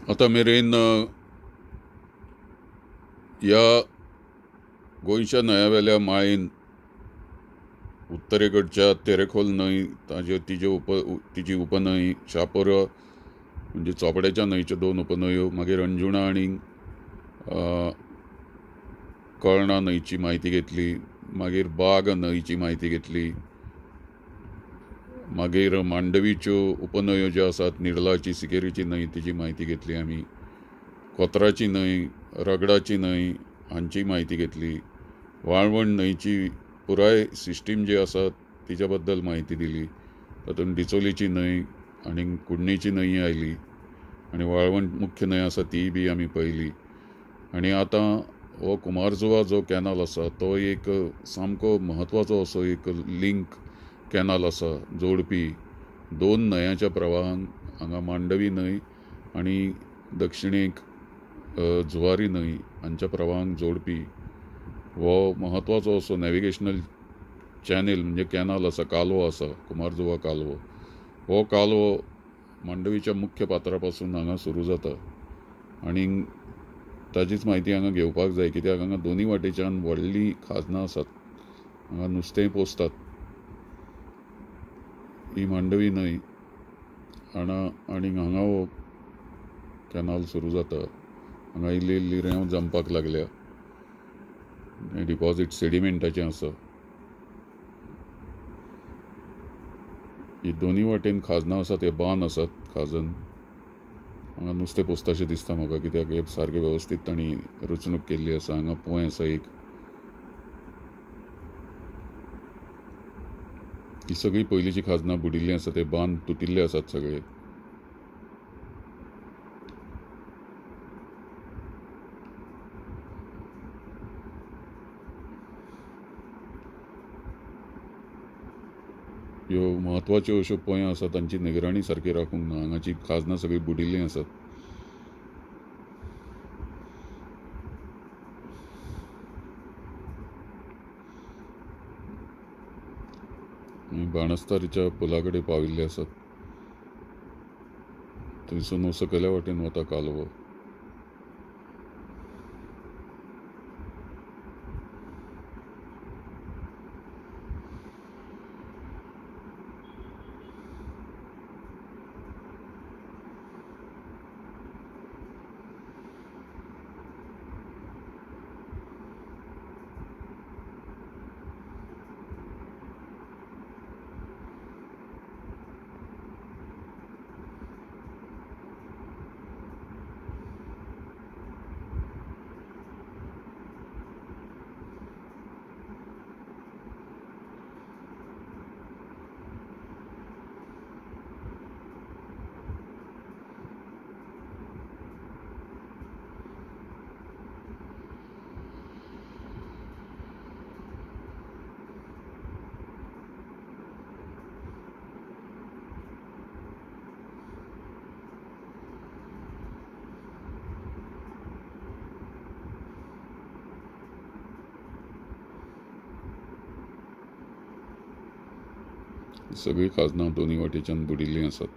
आतां मेरेन ह्या गोंयच्या न्हंयां वयल्या माळेन उत्तरेकडच्या तेरेखोल न्हंय ताज्यो तिज्यो तिची उपन्हंय शापोरा म्हणजे चोपड्याच्या न्हंयच्यो दोन उपन्हंयो, मागीर अंजुणा आनी कळणा न्हंयची म्हायती घेतली, मागीर बाग न्हंयची म्हायती घेतली, मागीर मांडवीच्यो उपन्हंयो ज्यो आसात निर्लाची सिकेरीची न्हंय तिची म्हायती घेतली आमी, कोत्राची न्हंय, रगडाची न्हंय हांची म्हायती घेतली, वाळवण न्हंयची पुराय सिस्टीम जी आसा तिच्या बद्दल म्हायती दिली, तातूंत डिचोलीची न्हंय आनी कुडणेची न्हंय आयली आनी वाळवण मुख्य न्हंय आसा तीय बी आमी पळयली. आनी आतां हो कुमारजुवा जो कॅनल आसा तो एक सामको म्हत्वाचो असो एक लिंक कॅनल आसा, जोडपी दोन न्हंयांच्या प्रवाहान, हांगा मांडवी न्हंय आनी दक्षिणेक जुवारी न्हंय हांच्या प्रवाहांक जोडपी हो म्हत्वाचो असो नॅविगेशनल चॅनल म्हणजे कॅनल आसा, कालवो आसा, कुमारजुवा कालवो. हो कालवो मांडवीच्या मुख्य पात्रा पासून हांगा सुरू जाता आनी ताचीच म्हायती हांगा घेवपाक जाय, कित्याक हांगा दोनूय वाटेच्यान व्हडलीं खाजनां आसात, हांगा नुस्तेंय पोसतात. ही मांडवी न्हंय आनी हांगा हो कॅनल सुरू जाता. हांगा इल्ली इल्ली रेंव जमपाक लागल्या, डिपॉझीट सेडिमेंटाचें आसा. ही दोनूय वाटेन खाजनां आसात, हे बांद आसात खाजन. हांगा नुस्तें पोसताशें दिसता म्हाका, कित्याक हे सारकें वेवस्थीत तांणी रचणूक केल्ली आसा. हांगा पोंय आसा एक. ही सगळीं पयलींची खाजनां बुडिल्लीं आसा, ते बांद तुटिल्ले आसात सगळे. ह्यो म्हत्वाच्यो अश्यो पोंयो आसात तांची निगराणी सारकी राखूंक ना, हांगाची खाजनां सगळीं बुडिल्लीं आसात. बाणस्तारीच्या पुला कडेन पाविल्ले आसात, थंयसून सकयल्या वाटेन वता कालवो. सगळीं खाजनां दोनूय वाटेच्यान बुडिल्लीं आसात.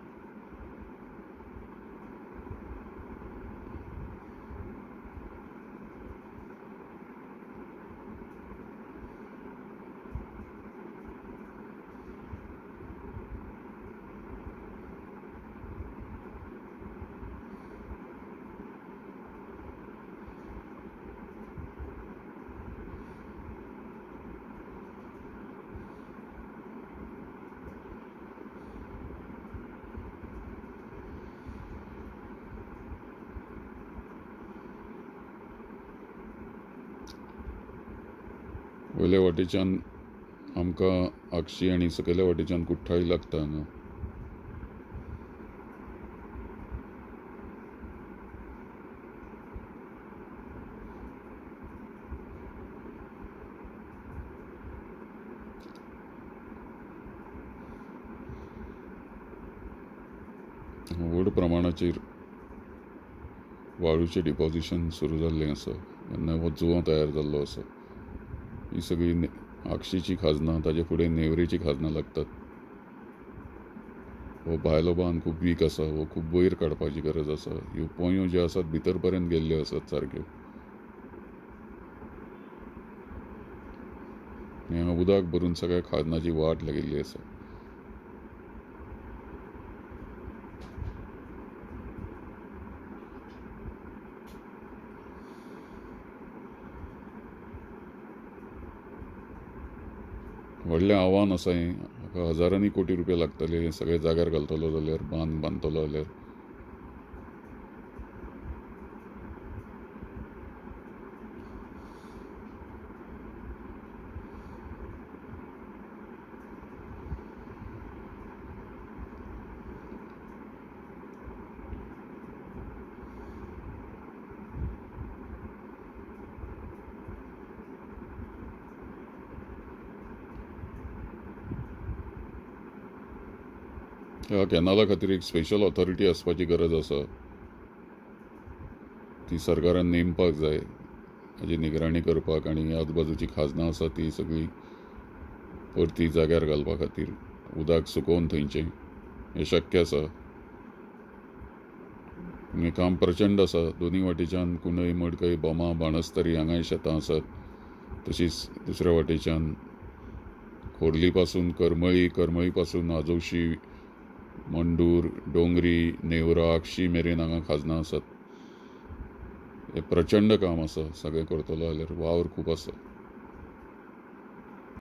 वयल्या वाटेच्यान आमकां आगशी आनी सकयल्या वाटेच्यान कुठ्ठाळी लागता हांगा. व्हड प्रमाणाचेर वाळूचें डिपॉझिशन सुरू जाल्लें आसा, नवो जुंवो तयार जाल्लो आसा. ही सगळी आगशीची खाजनां, ताजे फुडें नेवरेची खाजनां लागतात. हो भायलो बांद खूब वीक आसा, हो खूब वयर काडपाची गरज आसा. ह्यो पोंयो ज्यो आसात भितर पर्यंत गेल्ल्यो आसात सारक्यो. हांगा उदक भरून सगळ्या खाजनाची वाट लागिल्ली आसा. व्हडलें आव्हान आसा हें. हाका हजारांनी कोटी रुपया लागतले हें सगळें जाग्यार घालतलो जाल्यार, बांद बांदतलो जाल्यार. ह्या कॅनला खातीर एक स्पेशल ऑथॉरिटी आसपाची गरज आसा, ती सरकारान नेमपाक जाय हाजी निगराणी करपाक आनी आजूबाजूची खाजनां आसा ती सगळी परती जाग्यार घालपा खातीर उदक सुकोवन थंयचें हें शक्य आसा. हें काम प्रचंड आसा. दोनूय वाटेच्यान कुंडय, मडकय, बोमा, बाणस्तारी हांगाय शेतां आसात. तशीच दुसऱ्या वाटेच्यान खोर्ली पासून करमळी, करमळी पासून आजोशी, मंडूर, डोंगरी, नेवरा, आगशी मेरेन हांगा खाजनां आसात. हें प्रचंड काम आसा. सगळें करतलो जाल्यार वावर खूब आसा.